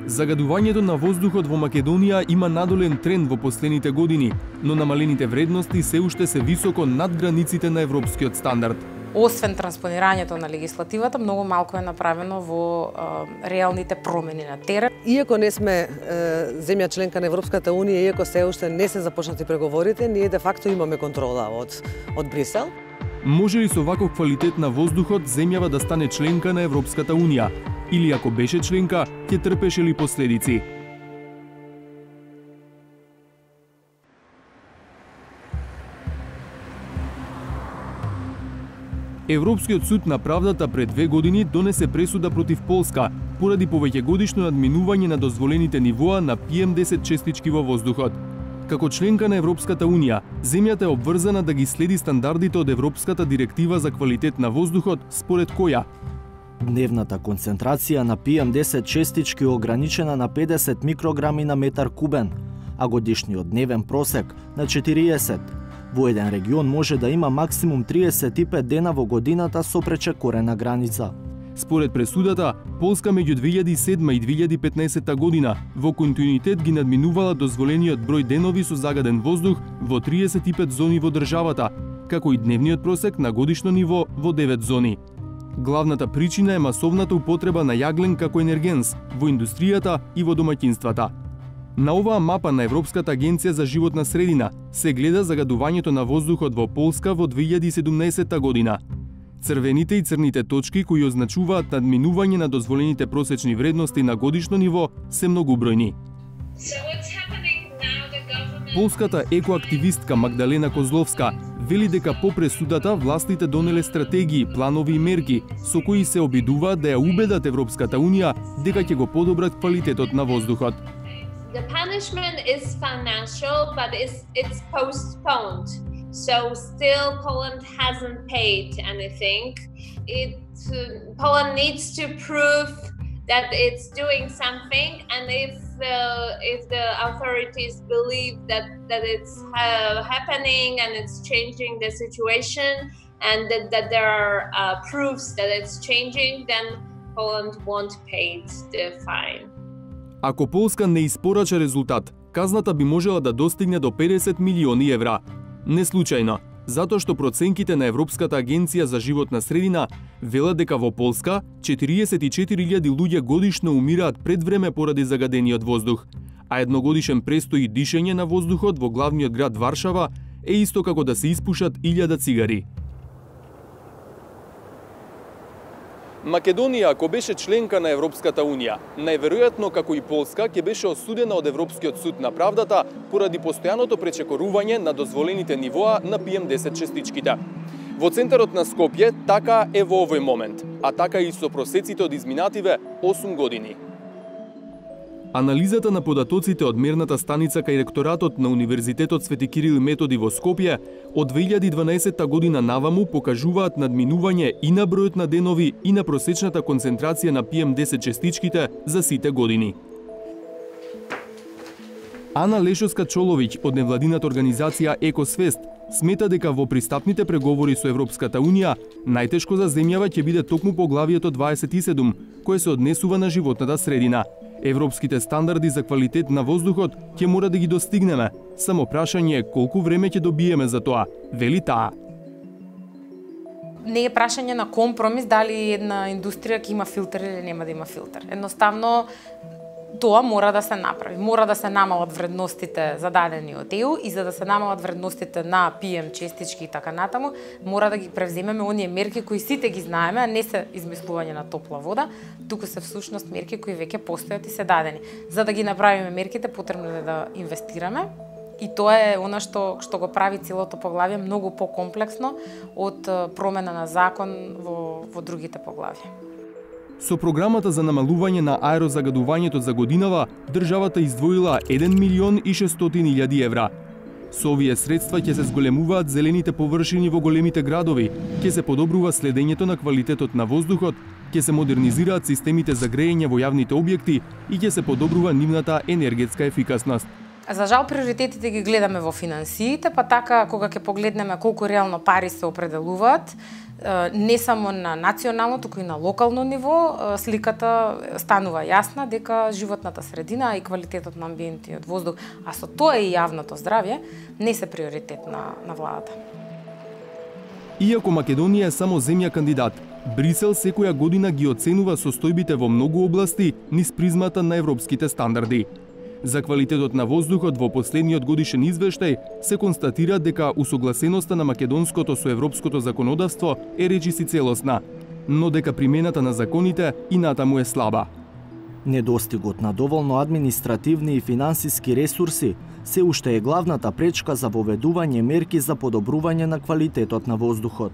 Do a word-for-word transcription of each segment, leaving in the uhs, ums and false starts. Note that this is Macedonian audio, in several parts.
Загадувањето на воздухот во Македонија има надолен тренд во последните години, но намалените вредности се уште се високо над границите на европскиот стандард. Освен транспонирањето на легислативата, многу малку е направено во е, реалните промени на терен. Иако не сме е, земја членка на Европската Унија, иако се уште не се започнати преговорите, ние де факто имаме контрола од од Брисел. Може ли со ваков квалитет на воздухот земјава да стане членка на Европската Унија? Или ако беше членка, ќе трпеше ли последици? Европскиот суд на правдата пред две години донесе пресуда против Полска поради повеќегодишно надминување на дозволените нивоа на пи ем десет честички во воздухот. Како членка на Европската Унија, земјата е обврзана да ги следи стандардите од Европската директива за квалитет на воздухот, според која дневната концентрација на пи ем десет честички е ограничена на педесет микрограми на метар кубен, а годишниот дневен просек на четириесет. Во еден регион може да има максимум триесет и пет дена во годината со пречекорена граница. Според пресудата, Полска меѓу две илјади и седма и две илјади и петнаесетта година во континуитет ги надминувала дозволениот број денови со загаден воздух во триесет и пет зони во државата, како и дневниот просек на годишно ниво во девет зони. Главната причина е масовната употреба на јаглен како енергенс во индустријата и во домаќинствата. На оваа мапа на Европската агенција за животна средина се гледа загадувањето на воздухот во Полска во две илјади и седумнаесетта година. Црвените и црните точки кои означуваат надминување на дозволените просечни вредности на годишно ниво се многубројни. Полската екоактивистка Магдалена Козловска вели дека по пресудата властите донеле стратегии, планови и мерки со кои се обидуваат да ја убедат Европската Унија дека ќе го подобрат квалитетот на воздухот. The punishment is financial, but it's, it's postponed. So still Poland hasn't paid anything. It, uh, Poland needs to prove that it's doing something, and if uh, if the authorities believe that that it's uh, happening and it's changing the situation, and that, that there are uh, proofs that it's changing, then Poland won't pay the fine. Ако Полска не испорача резултат, казната би можела да достигне до педесет милиони евра. Не случајно, затоа што проценките на Европската агенција за животна средина велат дека во Полска четириесет и четири илјади луѓе годишно умираат пред време поради загадениот воздух, а едногодишен престој и дишење на воздухот во главниот град Варшава е исто како да се испушат илјада цигари. Македонија, ако беше членка на Европската Унија, најверојатно како и Полска, ќе беше осудена од Европскиот суд на правдата поради постојаното пречекорување на дозволените нивоа на пи ем десет честичките. Во центарот на Скопје така е во овој момент, а така и со просеците од изминативе осум години. Анализата на податоците од мерната станица кај ректоратот на Универзитетот Свети Кирил и Методи во Скопје од две илјади и дванаесетта година наваму покажуваат надминување и на бројот на денови и на просечната концентрација на пи ем десет честичките за сите години. Ана Лешовска-Чоловиќ од невладината организација Екосвест смета дека во пристапните преговори со Европската Унија најтешко за земјава ќе биде токму поглавието дваесет и седум, кое се однесува на животната средина. Европските стандарди за квалитет на воздухот ќе мора да ги достигнеме. Само прашање е колку време ќе добиеме за тоа, вели таа. Не е прашање на компромис дали една индустрија ќе има филтер или нема да има филтер. Едноставно тоа мора да се направи. Мора да се намалат вредностите зададени од е у и за да се намалат вредностите на пи ем честички и така натаму, мора да ги превземеме оние мерки кои сите ги знаеме, а не се измислување на топла вода, туку се всушност мерки кои веќе постојат и се дадени. За да ги направиме мерките, потребно е да инвестираме. И тоа е она што што го прави целото поглавје многу покомплексно од промена на закон во во другите поглавја. Со програмата за намалување на аерозагадувањето за годинава, државата издвоила еден милион и шестстотини илјади евра. Со овие средства ќе се зголемуваат зелените површини во големите градови, ќе се подобрува следењето на квалитетот на воздухот, ќе се модернизираат системите за грејење во јавните објекти и ќе се подобрува нивната енергетска ефикасност. За жал, приоритетите ги гледаме во финансиите, па така кога ќе погледнеме колку реално пари се определуваат, не само на национално, туку и на локално ниво, сликата станува јасна дека животната средина и квалитетот на амбиентиот воздух, а со тоа и јавното здравје, не се приоритет на, на владата. Иако Македонија е само земја кандидат, Брисел секоја година ги оценува состојбите во многу области низ призмата на европските стандарди. За квалитетот на воздухот во последниот годишен извештај се констатира дека усогласеноста на македонското со европското законодавство е речиси целосна, но дека примената на законите и натаму е слаба. Недостигот на доволно административни и финансиски ресурси се уште е главната пречка за воведување мерки за подобрување на квалитетот на воздухот.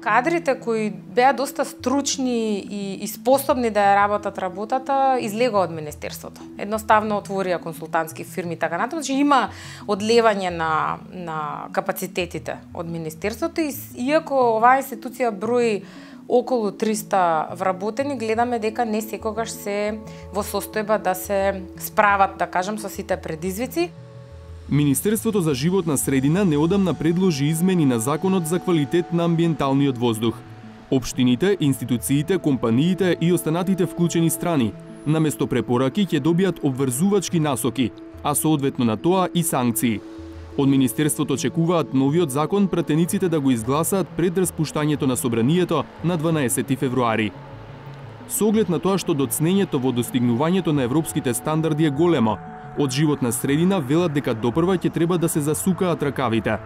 Кадрите кои беа доста стручни и, и способни да ја работат работата, излегоа од Министерството. Едноставно отворија консултантски фирми така натаму, значи има одлевање на, на капацитетите од Министерството и иако оваа институција брои околу триста вработени, гледаме дека не секогаш се во состојба да се справат, да кажам, со сите предизвици. Министерството за животна средина неодамна предложи измени на Законот за квалитет на амбиенталниот воздух. Општините, институциите, компаниите и останатите вклучени страни, наместо препораки ќе добијат обврзувачки насоки, а соодветно на тоа и санкции. Од Министерството очекуваат новиот закон пратениците да го изгласаат пред распуштањето на собранието на дванаесети февруари. Со оглед на тоа што доцнењето во достигнувањето на европските стандарди е големо, од животна средина велат дека допрва ќе треба да се засукаат ракавите.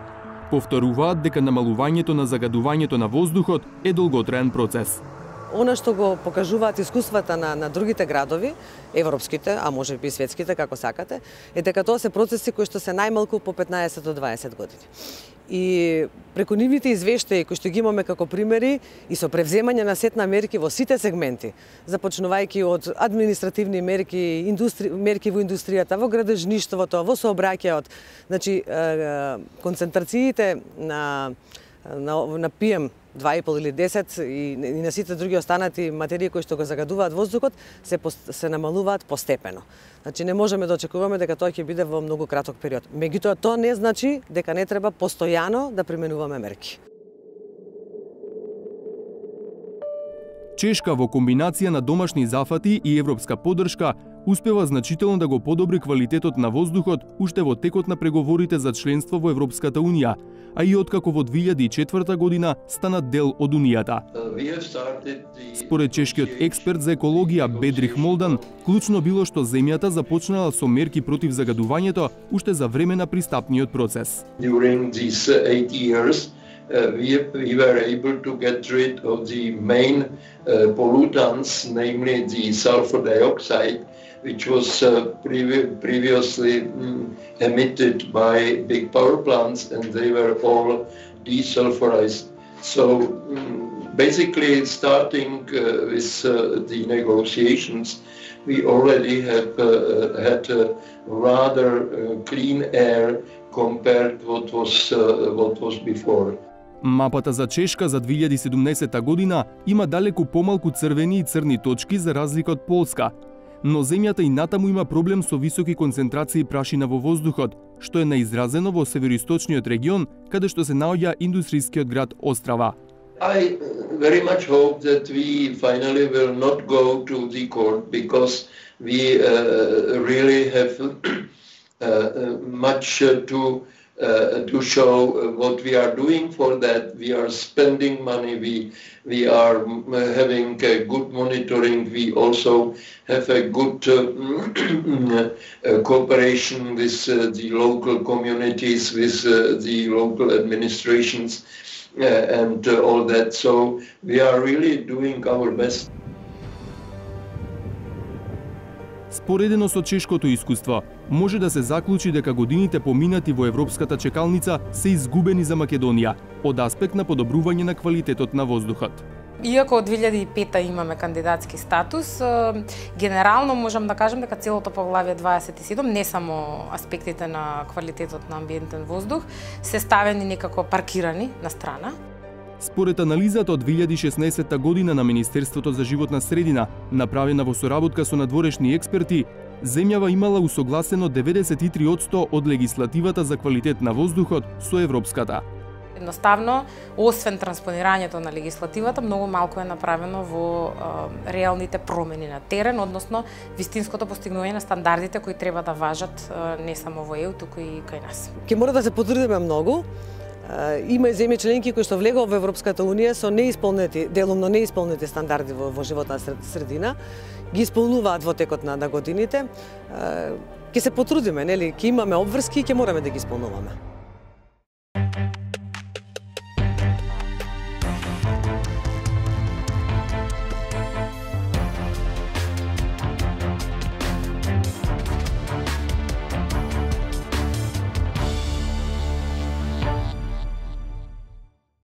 Повторуваат дека намалувањето на загадувањето на воздухот е долготраен процес. Она што го покажуваат искуствата на, на другите градови, европските, а може би и светските, како сакате, е дека тоа се процеси кои што се најмалку по петнаесет до дваесет години. И преку нивните извештаи кои што ги имаме како примери и со превземање на сет на мерки во сите сегменти, започнувајќи од административни мерки, индустри... мерки во индустријата, во градежништвото, во сообраќајот, значи концентрациите на на, на пи ем два и пол или десет и, и на сите други останати материи кои што го загадуваат воздухот се се намалуваат постепено. Значи не можеме да очекуваме дека тоа ќе биде во многу краток период. Меѓутоа тоа не значи дека не треба постојано да применуваме мерки. Чешка во комбинација на домашни зафати и европска поддршка успева значително да го подобри квалитетот на воздухот уште во текот на преговорите за членство во Европската Унија, а и откако во две илјади и четврта година стана дел од Унијата. Според чешкиот експерт за екологија Бедрих Молдан, клучно било што земјата започнала со мерки против загадувањето уште за време на пристапниот процес. Uh, we, we were able to get rid of the main uh, pollutants, namely the sulfur dioxide, which was uh, previ previously mm, emitted by big power plants, and they were all desulfurized. So mm, basically, starting uh, with uh, the negotiations, we already have uh, had a rather uh, clean air compared to what was, uh, what was before. Мапата за Чешка за две илјади и седумнаесетта година има далеку помалку црвени и црни точки за разлика од Полска, но земјата и натаму има проблем со високи концентрации прашина во воздухот, што е наизразено во североисточниот регион, каде што се наоѓа индустрискиот град Острава. I very much hope that we finally will not go to the court because we uh, really have uh, much to Uh, to show what we are doing for that. We are spending money, we, we are having a good monitoring, we also have a good uh, uh, cooperation with uh, the local communities, with uh, the local administrations uh, and uh, all that. So we are really doing our best. Споредено со чешкото искуство, може да се заклучи дека годините поминати во европската чекалница се изгубени за Македонија од аспект на подобрување на квалитетот на воздухот. Иако од две илјади и пета имаме кандидатски статус, генерално можам да кажам дека целото поглавје дваесет и седум, не само аспектите на квалитетот на амбиентен воздух, се ставени некако паркирани на страна. Според анализата од две илјади и шеснаесетта година на Министерството за животна средина, направена во соработка со надворешни експерти, земјава имала усогласено деветдесет и три одсто од легислативата за квалитет на воздухот со европската. Едноставно, освен транспонирањето на легислативата, многу малку е направено во е, реалните промени на терен, односно вистинското постигнување на стандардите кои треба да важат е, не само во Е У, туку и кај нас. Ке мора да се потрудиме многу. Има и земји членки кои што влегува во Европската Унија со неисполнети, делумно неисполнети стандарди во, во животна средина, ги исполнуваат во текот на, на годините. Ке се потрудиме, нели, ке имаме обврски и ке мораме да ги исполнуваме.